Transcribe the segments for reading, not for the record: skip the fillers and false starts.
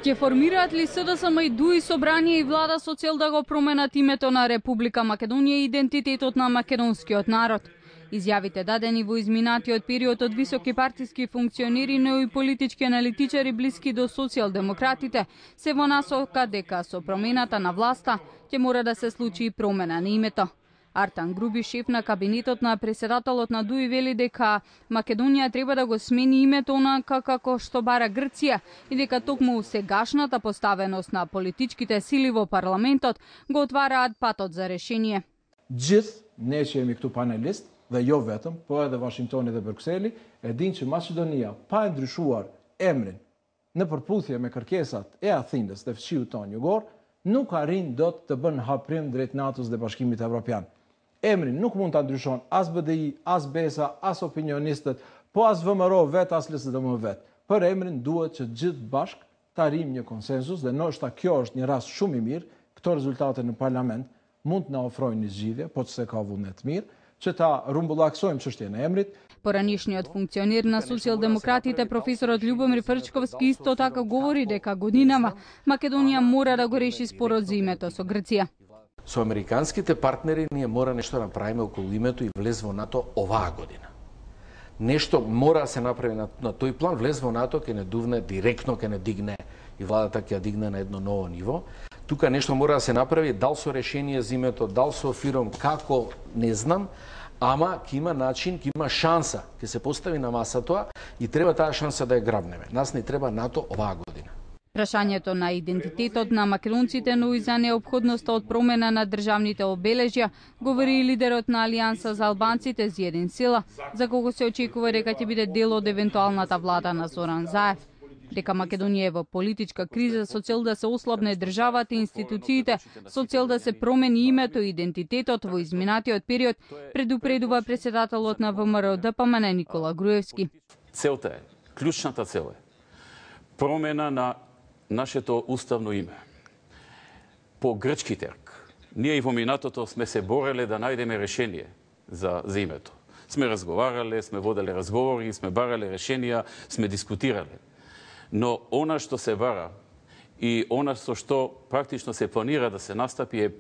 Ќе формираат ли СДСМ и ДУИ собрание и влада со цел да го променат името на Република Македонија и идентитетот на македонскиот народ? Изјавите дадени во изминатиот период од високи партиски функционери, но и политички аналитичари блиски до социјалдемократите се во насока дека со промената на власта ќе мора да се случи и промена на името. Артан Груби, шеф на кабинетот на преседателот на ДУИ, вели дека Македонија треба да го смени името онака како што бара Грција и дека токму сегашната поставеност на политичките сили во парламентот го отвараат патот за решение. Gjithë ne që jemi këtu panelist dhe jo vetëm, po edhe Washingtoni dhe Brukseli, e dinë që Maqedonia pa e ndryshuar emrin në përputhje me kërkesat e Athinës dhe fshiut tonë jugor, nuk arrin dot të bën haprim drejt NATO-s dhe Bashkimit Evropian. Emrin nuk mund ta ndryshon as BDI, as BESA, as opinionistët, po as VMRO vet, as LSDM vet. Për emrin duhet që gjithë bashk të arrijmë një konsensus dhe ndoshta kjo është një rast shumë i mirë, këto rezultate në parlament mund të na ofrojnë një zgjidhje, po çse ka vullnet mirë, që ta rumbullaksojmë çështjen e emrit. Поранишниот функционер на социјалдемократите професорот Љубомир Фрчковски исто така говори дека годинама Македонија мора да го реши спорот за името со Грција. Со американските партнери ние мора нешто да направиме околу името и влез во НАТО оваа година. Нешто мора да се направи на тој план, влез во НАТО ќе не дувне директно, ќе не дигне и владата ќе ја дигне на едно ново ниво. Тука нешто мора да се направи, дал со решение за името, дал со фиром, како, не знам, ама ќе има начин, ќе има шанса, ќе се постави на маса тоа и треба таа шанса да ја грабнеме. Нас не треба НАТО оваа година. Прашањето на идентитетот на македонците, но и за неопходноста од промена на државните обележја, говори и лидерот на Алијанса за албанците Зиедин Сила, за кого се очекува дека ќе биде дел од евентуалната влада на Зоран Заев. Дека Македонија е во политичка криза со цел да се ослабне државата и институциите, со цел да се промени името и идентитетот во изминатиот период, предупредува председателот на ВМРО ДПМН Никола Груевски. Целта е, клучната цел е промена на нашето уставно име. По грчки терк. Ние и во минатото сме се бореле да најдеме решение за името. Сме разговарале, сме воделе разговори, сме барале решенија, сме дискутирале. Но она што се бара и она што практично се планира да се настапи е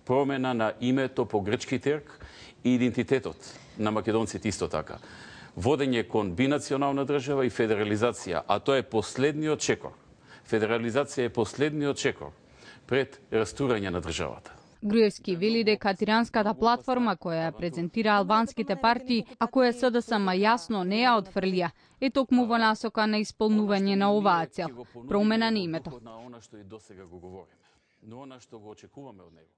промена на името по грчки терк и идентитетот на македонците исто така. Водење кон бинационална држава и федерализација, а тоа е последниот чекор. Федерализација е последниот чекор пред растурање на државата. Груевски вели дека тиранската платформа која ја презентира албанските партии, а која СДСМ јасно не ја отфрлија, е токму во насока на исполнување на оваа цел, промена на името. Но она што и досега го говориме, но она што го очекуваме од него.